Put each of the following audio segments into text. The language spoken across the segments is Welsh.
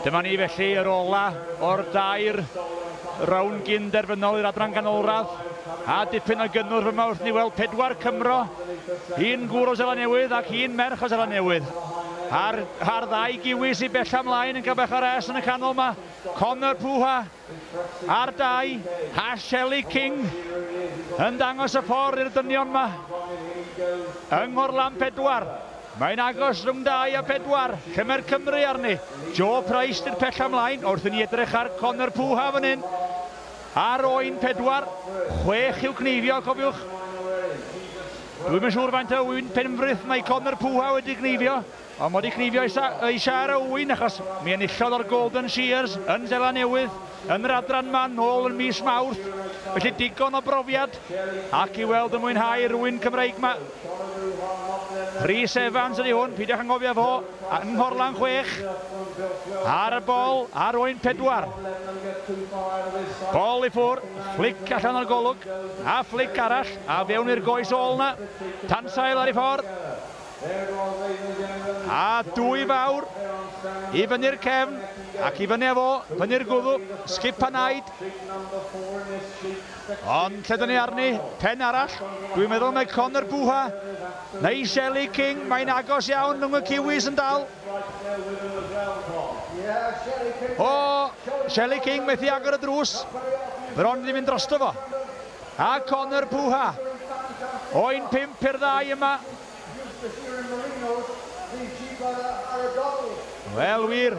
Dyma ni felly yr ola o'r dair rownd gyn-derfynol i'r adran ganolradd. A dipyn o gynnwrf yma wrth ni weld 4 Cymro, un gŵr o Seland Newydd ac un merch o Seland Newydd. A'r, a'r ddau Giwi sy'n bella ymlaen yn cael bach o res yn y canol yma. Connor Puha ar 2, a Shelley King yn dangos y ffordd i'r dynion yma. Yng Nghorlan 4. Mae'n agos rhwng 2 a 4. Lle mae'r Cymru arni? Joe Price di'r pella ymlaen wrth i ni edrych ar Connor Puha fan hyn. Ar oen 4, 6 i'w cneifio, cofiwch. Dwi'm yn siŵr faint o ŵyn Penfrith mae Connor Puha wedi cneifio, ond mae wedi cneifio ei siar o ŵyn achos mi enillodd o'r Golden Shears yn Seland Newydd yn yr adran yma nôl yn mis Mawrth. Felly digon o brofiad ac i weld yn mwynhau rwy'n Cymreig yma. Rhys Evans ydy hwn, peidiwch anghofio fo, yng Nghorlan 6, ar y bol, ar oen 4. Bol i ffwr, flic allan o'r golwg, a flic arall, a fewn i'r goes ôl na, tansail ar ei ffordd. A 2 fawr, i fyny'r cefn, ac i fyny â fo, fyny'r gwddw, sgip a naid. Ond lle dyn ni arni, pen arall, dwi'n meddwl mae Connor Puha neu Shelley King, mae'n agos iawn rhwng y Kiwis yn dal. O, Shelley King methu agor y drws, bron wedi mynd drosto fo. A Connor Puha, oen 5 i'r 2 yma. Wel wir,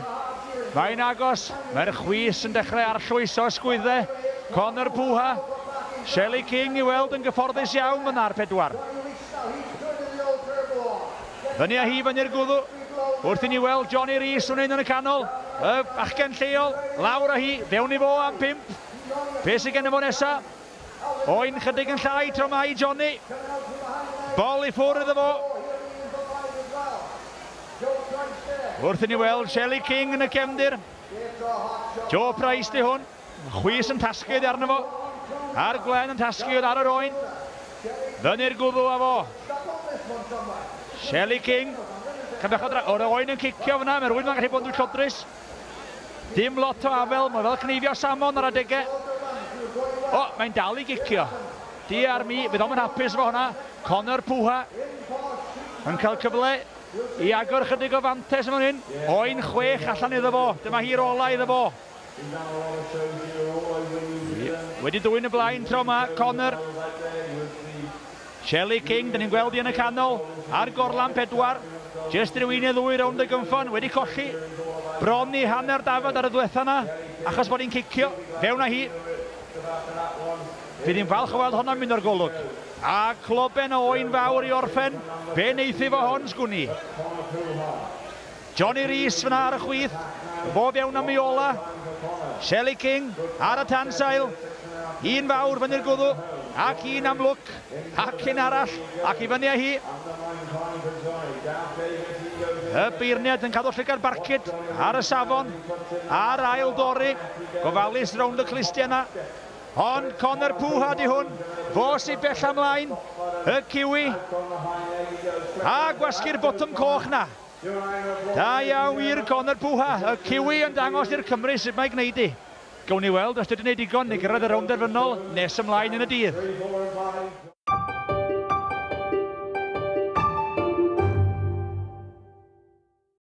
mae'n agos, mae'r chwys yn dechrau arllwys o ysgwyddau. Connor Puha, Shelley King i weld yn gyfforddus iawn fyna ar 4. Fyny â hi fyny'r gwddw, wrth i ni weld Johnny Rees yn un yn y canol, y bachgen lleol, lawr â hi, fewn i fo am 5. Be sydd gen fo nesa? Oen chydig yn llai tro mai Johnny. Bol i ffwrdd iddo fo. Wrth i ni weld Shelley King yn y cefndir. Joe Price di hwn. Chwys yn tasgu oddi arno fo. A'r gwlen yn tasgu oedd ar yr oen. Fyny'r gwddw â fo. Shelley King. O'r oen yn cicio fyna. Mae rhywun ma'n gallu bod yn dwyllodrus. Dim lot o afel, mae fel cneifio salmon ar adegau. O, mae'n dal i gicio. Di ar mi, fydd o'm yn hapus efo hwnna. Connor Puha yn cael cyfle i agor chydig o fantes yn fan hyn. Oen 6 allan iddo fo. Dyma hi'r ola iddo fo. Wedi dwyn y blaen tro yma, Connor. Shelley King, dyn ni'n gweld hi yn y canol, ar gorlan 4. Jyst rhyw un neu ddwy rownd y gynffon, wedi colli bron i hanner dafad ar y ddiwetha yna, achos bod hi'n cicio, fewn â hi. Fydd hi'n falch o weld honno'n mynd o'r golwg. A cloben o oen fawr i orffen, be wneith fo hon, sgwn i. Johnny Rees fyna ar y chwith, fo fewn am ei ola. Shelley King ar y tansail, un fawr fyny'r gwddw, ac un am lwc, ac un arall, ac i fyny â hi. Y beirniad yn cadw llygad barcud ar y safon, a'r ail dorri, gofalus rownd y clustiau yna. Ond Connor Puha di hwn, fo sy'n bell ymlaen, y Kiwi, a gwasgu'r botwm coch na. Da iawn i'r Connor Puha, y Kiwi yn dangos i'r Cymru sut mae gwneud i. Gawn ni weld os dydyn ni digon i gyrraedd y rownd derfynol nes ymlaen yn y dydd.